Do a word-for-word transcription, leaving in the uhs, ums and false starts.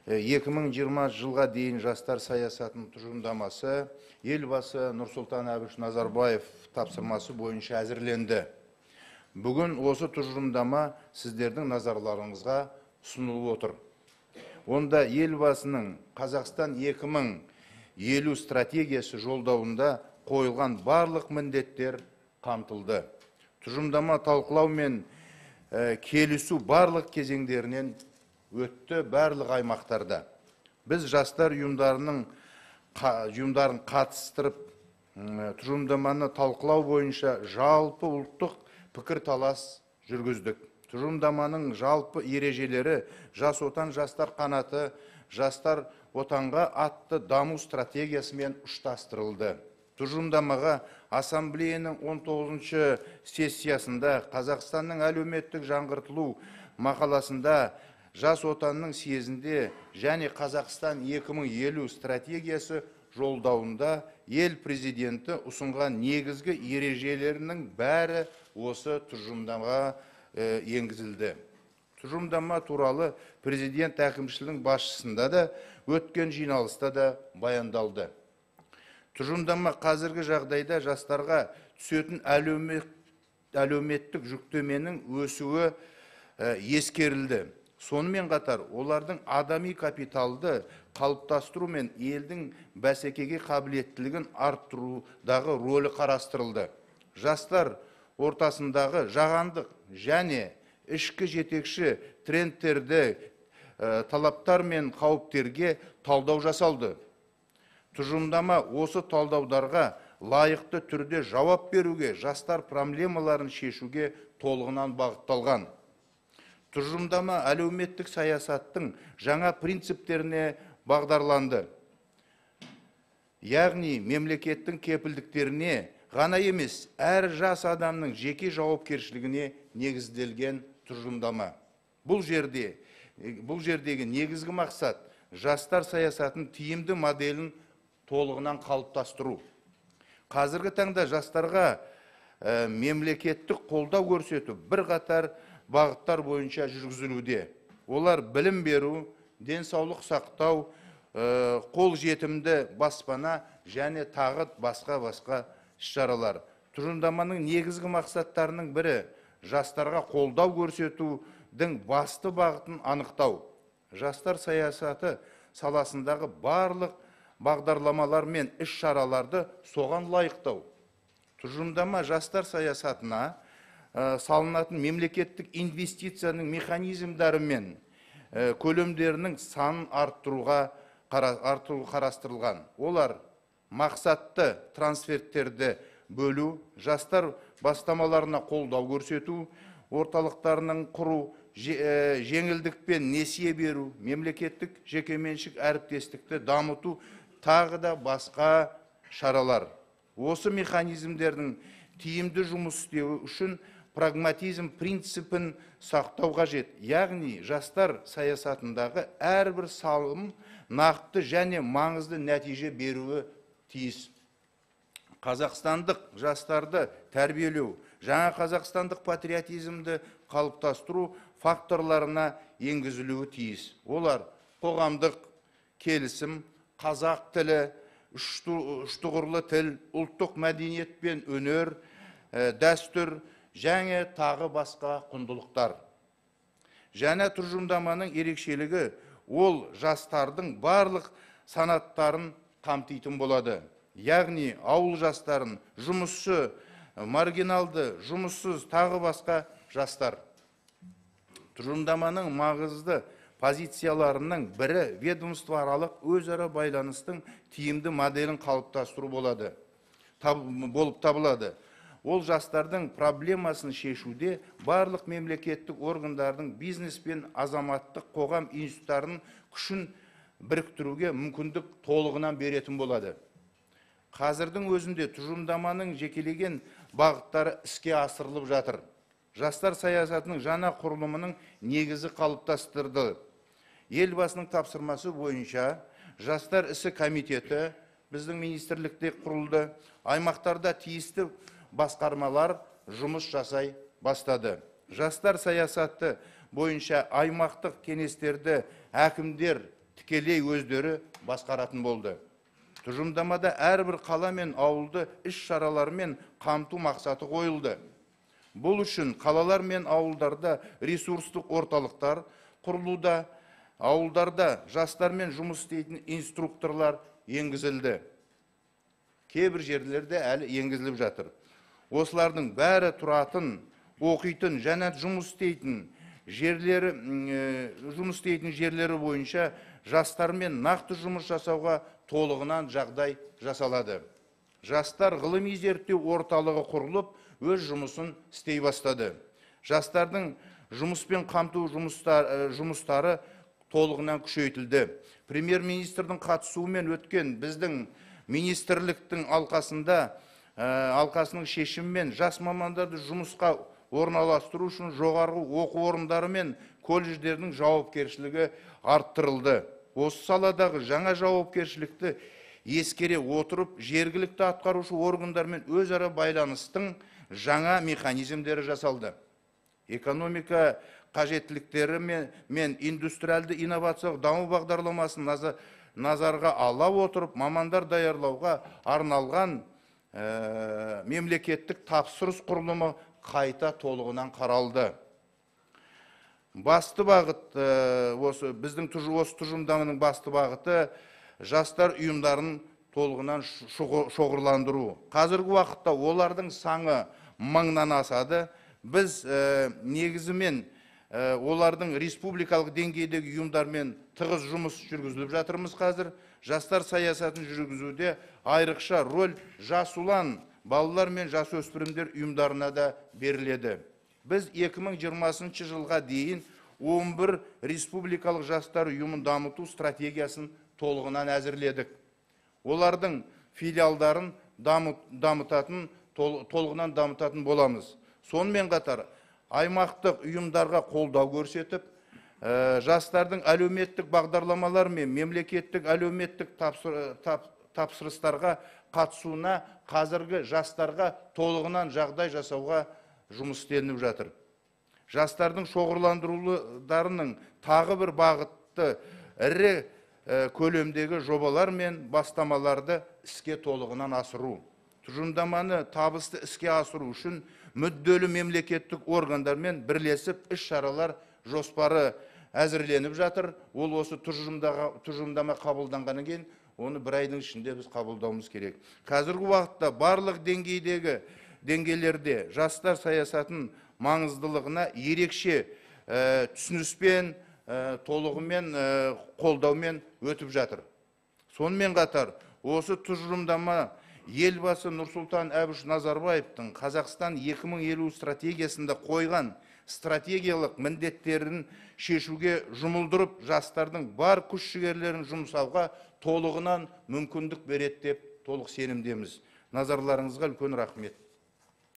екі мың жиырмасыншы жылға дейін жастар саясатының тұжырымдамасы елбасы Нұрсұлтан Әбіш Назарбаев тапсырмасы бойынша әзірленді. Бүгін осы тұжырымдама сіздердің назарларыңызға ұсынылып отыр. Онда елбасының Қазақстан екі мың елу стратегиясы жолдауында қойылған барлық міндеттер қамтылды. Тұжырымдама талқылау мен келісу барлық кезеңдерінен өтті барлық аймақтарда. Біз жастар ұйымдарының ұйымдарын қатыстырып, тұжырымдаманы талқылау бойынша жалпы ұлттық пікір талас жүргіздік. Тұжырымдаманың жалпы ережелері жас отан жастар қанаты, жастар отанға атты даму стратегиясымен ұштастырылды. Тұжырымдамаға ассамблеяның он тоғызыншы сессиясында Қазақстанның әлеуметтік жаңғыртылу мақаласында жас отанның съезінде және Қазақстан екі мың елу стратегиясы жолдауында ел президенті ұсынған негізгі ережелерінің бәрі осы тұжырымдамаға енгізілді. Тұжырымдама туралы президент әкімшілігінің басшысында да өткен жиналыста да баяндалды. Тұжырымдама қазіргі жағдайда жастарға түсетін әлеуметтік жүктеменің өсуі ескерілді. Сонымен қатар олардың адами капиталды қалыптастыру мен елдің бәсекеге қабілеттілігін арттырудағы рөлі қарастырылды. Жастар ортасындағы жағандық және ішкі жетекші трендтерді, талаптар мен қауіптерге талдау жасалды. Тұжырымдама осы талдаударға лайықты түрде жауап беруге, жастар проблемаларын шешуге толығынан бағытталған. Тұжырымдама әлеуметтік саясаттың жаңа принциптеріне бағдарланды. Яғни мемлекеттің кепілдіктеріне ғана емес, әр жас адамның жеке жауапкершілігіне негізделген тұжырымдама. Бұл жерде, бұл жердегі негізгі мақсат жастар саясатының тиімді моделін толығынан қалыптастыру. Қазіргі таңда жастарға мемлекеттік қолдау көрсету бір қатар бағыттар бойынша жүргізілуде. Олар білім беру, денсаулық сақтау, қол жетімді баспана және тағы басқа-басқа іс-шаралар. Тұжырымдаманың негізгі мақсаттарының бірі жастарға қолдау көрсетудің басты бағытын анықтау. Жастар саясаты саласындағы барлық бағдарламалар мен іс-шараларды соған лайықтау. Тұжырымдама жастар саясатына салынатын мемлекеттік инвестицияның механизмдары мен көлемдерінің санын арттыруға қарастырылған. Олар мақсатты трансферттерді бөлу, жастар бастамаларына қолдау көрсету, орталықтарының құру, жеңілдікпен несие беру, мемлекеттік жекеменшік әріптестікті дамыту, тағы да басқа шаралар. Осы механизмдердің тиімді жұмыс істеуі үшін прагматизм принципін сақтау қажет. Яғни жастар саясатындағы әрбір салым нақты және маңызды нәтиже беруі тиіс. Қазақстандық жастарды тәрбиелеу, жаңа қазақстандық патриотизмді қалыптастыру факторларына енгізілуі тиіс. Олар қоғамдық келісім, қазақ тілі, үштұғырлы тіл, ұлттық мәдениет пен өнер, дәстүр және тағы басқа құндылықтар. Жаңа тұжырымдаманың ерекшелігі ол жастардың барлық санаттарын қамтитын болады. Яғни ауыл жастарын, жұмысшы, маргиналды, жұмыссыз, тағы басқа жастар. Тұжырымдаманың маңызды позицияларының бірі ведомствоаралық өзара байланыстың тиімді моделін қалыптастыру болады, болып табылады. Ол жастардың проблемасын шешуде барлық мемлекеттік органдардың бизнес пен азаматтық қоғам институттарының күшін біріктіруге мүмкіндік толығынан беретін болады. Қазірдің өзінде тұжырымдаманың жекелеген бағыттары іске асырылып жатыр. Жастар саясатының жаңа құрылымының негізі қалыптастырды. Елбасының тапсырмасы бойынша жастар ісі комитеті біздің министрлікте құрылды. Аймақтарда тиісті басқармалар жұмыс жасай бастады. Жастар саясаты бойынша аймақтық кеңестерді әкімдер тікелей өздері басқаратын болды. Тұжырымдамада әрбір қала мен ауылды іс шаралармен қамту мақсаты қойылды. Бұл үшін қалалар мен ауылдарда ресурстық орталықтар құрылуда, ауылдарда жастармен жұмыс істейтін инструкторлар енгізілді. Кейбір жерлерде әлі енгізіліп жатыр. Осылардың бәрі тұратын, оқитын және жұмыс істейтін жерлері, жұмыс істейтін жерлері бойынша жастармен нақты жұмыс жасауға толығынан жағдай жасалады. Жастар ғылыми зерттеу орталығы құрылып, өз жұмысын істей бастады. Жастардың жұмыспен қамту жұмыстары толығынан күшейтілді. Премьер-министрдің қатысуымен өткен біздің министрліктің алқасында, алқасының шешімімен жас мамандарды жұмысқа орналастыру үшін жоғарғы оқу орындары мен колледждердің жауапкершілігі арттырылды. Осы саладағы жаңа жауапкершілікті ескере отырып, жергілікті атқарушы органдармен өзара байланыстың жаңа механизмдері жасалды. Экономика қажеттіліктері мен индустриалды инновациялық даму бағдарламасын назарға ала отырып, мамандар даярлауға арналған мемлекеттік тапсырыс құрылымы қайта толығынан қаралды. Басты бағыт, осы біздің осы тұжырымдаманың басты бағыты жастар ұйымдарын толығынан шоғырландыру. Қазіргі уақытта олардың саны мыңнан асады. Біз негізімен олардың республикалық деңгейдегі ұйымдармен тығыз жұмыс жүргізіліп жатырмыз қазір. Жастар саясатын жүргізуде айрықша рөл жас ұлан, балалар мен жас өспірімдер ұйымдарына да беріледі. Біз екі мың жиырмасыншы жылға дейін он бір республикалық жастар ұйымын дамыту стратегиясын толығынан әзірледік. Олардың филиалдарын дамытатын, толығынан дамытатын боламыз. Сонымен қатар, аймақтық ұйымдарға қолдау көрсетіп, жастардың әлеуметтік бағдарламалар мен мемлекеттік әлеуметтік тапсырыстарға қатысуына қазіргі жастарға толығынан жағдай жасауға жұмыс істелініп жатыр. Жастардың шоғырландыруларының тағы бір бағытты ірі көлемдегі жобалар мен бастамаларды іске толығынан асыру. Тұжырымдаманы табысты іске асыру үшін мүдделі мемлекеттік органдармен бірлесіп іс шаралар жоспары әзірленіп жатыр. Ол осы тұжырымдама қабылданғаннан кейін оны бір айдың ішінде біз қабылдауымыз керек. Қазіргі уақытта барлық деңгейдегі деңгейлерде жастар саясатын маңыздылығына ерекше түсініспен, толығымен қолдаумен өтіп жатыр. Сонымен қатар, осы тұжырымдама елбасы Нұрсұлтан Әбіш Назарбаевтың Қазақстан екі мың елу стратегиясында қойған стратегиялық міндеттерін шешуге жұмылдырып, жастардың бар күш жігерлерін жұмсауға толығынан мүмкіндік береді деп толық сенімдеміз. Назарларыңызға үлкен рахмет.